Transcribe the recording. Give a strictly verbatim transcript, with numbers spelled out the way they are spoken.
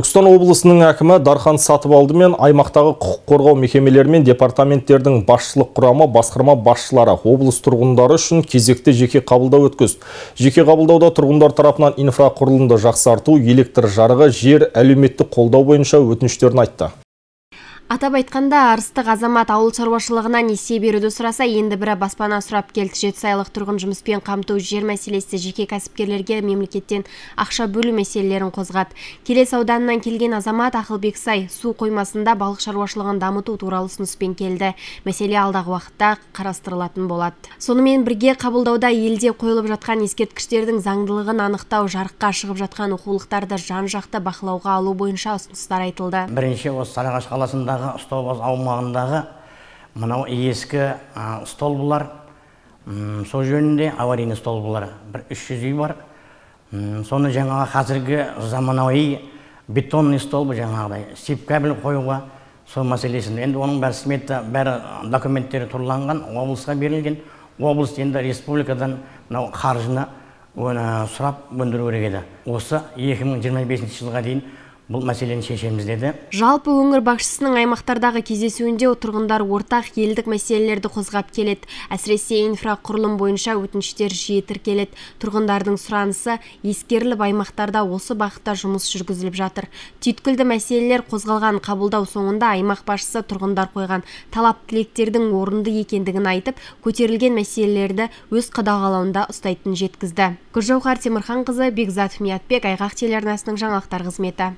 Түркістан облысының әкімі Дархан Сатыбалды мен аймақтағы құқық қорғау мекемелері мен департаменттердің басшылық құрамы, басқарма басшылары облыс тұрғындары үшін кезекті жеке қабылдау өткізді. Жеке қабылдауда тұрғындар тарапынан инфрақұрылымды жақсарту, электр жарығы, жер, әлеуметтік қолдау бойынша өтініштерін айтты. Атап айтқанда, арыстық азамат ауыл шаруашылығына несие беруді сұраса, енді бірі баспана сұрап келді. Жетісайлық тұрғын жұмыспен қамту, жер мәселесі, жеке кәсіпкерлерге мемлекеттен ақша бөлу мәселелерін қозғады. Келес ауданынан келген азамат Ақылбексай су қоймасында балық шаруашылығын дамыту туралы ұсыныспен келді. Мәселе алдағы уақытта қарастырылатын болады. Сонымен бірге қабылдауда елде қойылып жатқан ескерткіштердің заңдылығын анықтау, жарыққа шығып жатқан оқулықтарды жан-жақты бақылауға алу бойынша ұсыныстар айтылды. Бірінші осы Сарыағаш қаласында столбаз аумағындағы мынау ескі столбылар, сол жөнінде аварийный столбылар бір үш жүз үй бар. Соны жаңағы қазіргі заманауи бетонный столбы жаңағыдай сеп-кабель қоюға сол мәселесін. Енді оның бәрі смета, бәрі документтері тұрланған, облысқа берілген. Облыс енді республикадан мынау қаржыны сұрап өндіру керек еді. Осы екі мың жиырма бесінші жылға дейін бұл мәселені шешеміз деді. Жалпы өңір басшысының аймақтардағы кездесуінде тұрғындар ортақ елдік мәселелерді қозғап келеді. Әсіресе инфрақұрылым бойынша өтініштер жиі тіркеледі. Тұрғындардың сұранысы ескеріліп, аймақтарда осы бағытта жұмыс жүргізіліп жатыр. Түйткілді мәселелер қозғалған қабылдау соңында аймақ басшысы тұрғындар қойған талап-тілектердің орынды екендігін айтып, көтерілген мәселелерді өз қадағалауында ұстайтынын жеткізді. Гүлжауһар Темірханқызы, Бекзат Миятбек, Айғақ телеарнасының жаңалықтар қызметі.